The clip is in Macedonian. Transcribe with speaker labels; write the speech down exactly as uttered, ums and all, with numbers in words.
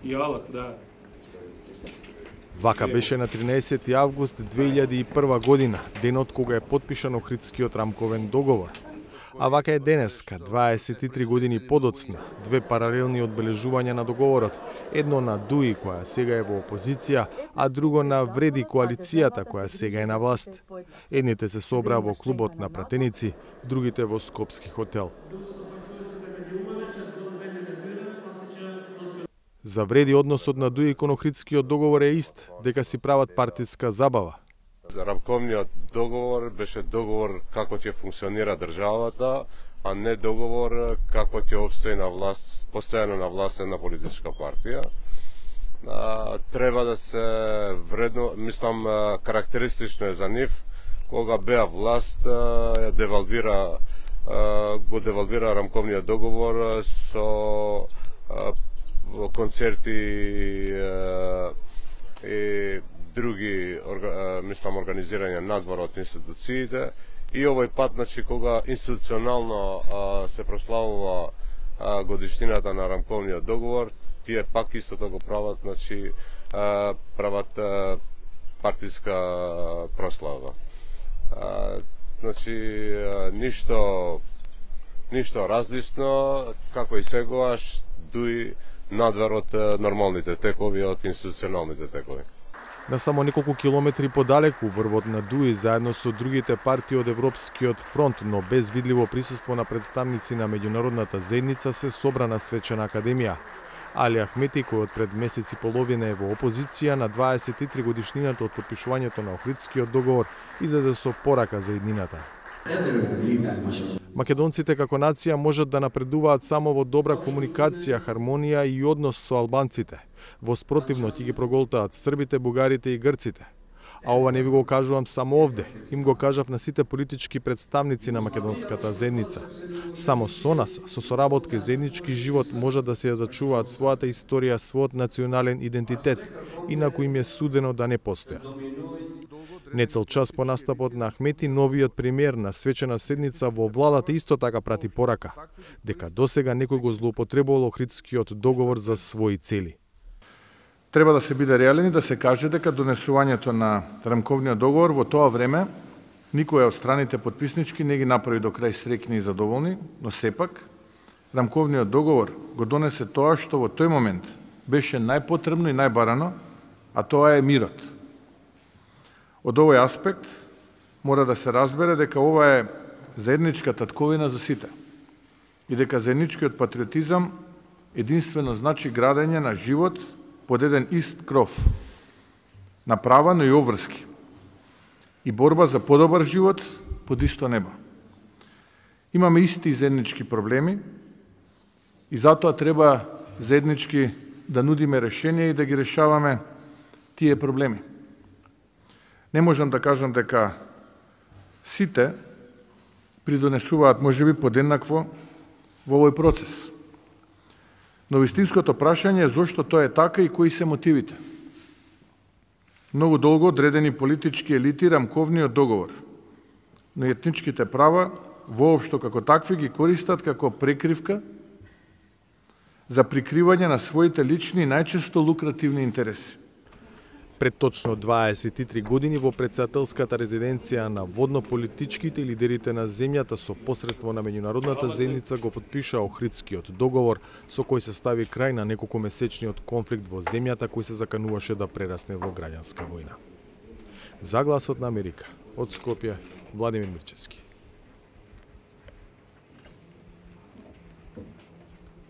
Speaker 1: Јалак, да.
Speaker 2: Вака беше на тринаесети август две илјади и прва година, денот кога е подпишан Охридскиот рамковен договор. А вака е денеска, дваесет и три години подоцна, две паралелни одбележувања на договорот, едно на ДУИ која сега е во опозиција, а друго на Вреди коалицијата која сега е на власт. Едните се собраа во клубот на пратеници, другите во Скопски хотел. За Вреди односот на ДУИ кон Охридскиот договор е ист, дека си прават партиска забава.
Speaker 3: Рамковниот договор беше договор како ќе функционира државата, а не договор како ќе опстои на власт, постојано на власт една политичка партија. А, треба да се вредно, мислам, карактеристично е за нив, кога беа власт, ја девалвира, го девалвира рамковниот договор со концерти и други, мислам, организирање надвор од институциите, и овој пат, значи, кога институционално а, се прославува а, годишнината на рамковниот договор, тие пак истото го прават, значи, а, прават а, партиска прослава. А, значи, а, ништо, ништо различно, како и сегоаш, ДУИ надвор од нормалните текови, од институционалните текови.
Speaker 2: На само неколку километри подалеку, врвот на ДУИ заедно со другите партии од Европскиот фронт, но без видливо присуство на представници на меѓународната заедница, се собра на свечена академија. Али Ахмети, кој од пред месец и половина е во опозиција, на дваесет и три годишнината од подпишувањето на Охридскиот договор, излезе со порака за еднината. Македонците како нација можат да напредуваат само во добра комуникација, хармонија и однос со албанците. Во спротивно ќе ги проголтаат србите, бугарите и грците. А ова не ви го кажувам само овде, им го кажав на сите политички представници на македонската заедница. Само со нас, со соработка и заеднички живот, можат да се ја зачуваат својата историја, својот национален идентитет, инаку им е судено да не постојат. Нецел час по настапот на Ахмети, новиот премиер на свечена седница во владата исто така прати порака, дека досега некој го злоупотребувал Охридскиот договор за своји цели.
Speaker 4: Треба да се биде реален и да се каже дека донесувањето на рамковниот договор во тоа време никоја од страните потписнички не ги направи до крај среќни и задоволни, но сепак рамковниот договор го донесе тоа што во тој момент беше најпотребно и најбарано, а тоа е мирот. Од овој аспект мора да се разбере дека ова е заедничка татковина за сите и дека заедничкиот патриотизам единствено значи градење на живот под еден ист кров, на права, но и обврски, и борба за подобар живот под исто небо. Имаме исти заеднички проблеми и затоа треба заеднички да нудиме решенија и да ги решаваме тие проблеми. Не можам да кажам дека сите придонесуваат можеби подеднакво во овој процес. Но вистинското прашање е зошто тоа е така и кои се мотивите. Многу долго одредени политички елити рамковниот договор, но етничките права воопшто како такви ги користат како прекривка за прикривање на своите лични и најчесто лукративни интереси.
Speaker 2: Пред точно дваесет и три години во претседателската резиденција на водно-политичките лидерите на земјата со посредство на меѓународната заедница го потпиша Охридскиот договор, со кој се стави крај на неколку месечниот конфликт во земјата кој се закануваше да прерасне во граѓанска војна. За Гласот на Америка, од Скопје, Владимир Мирчевски.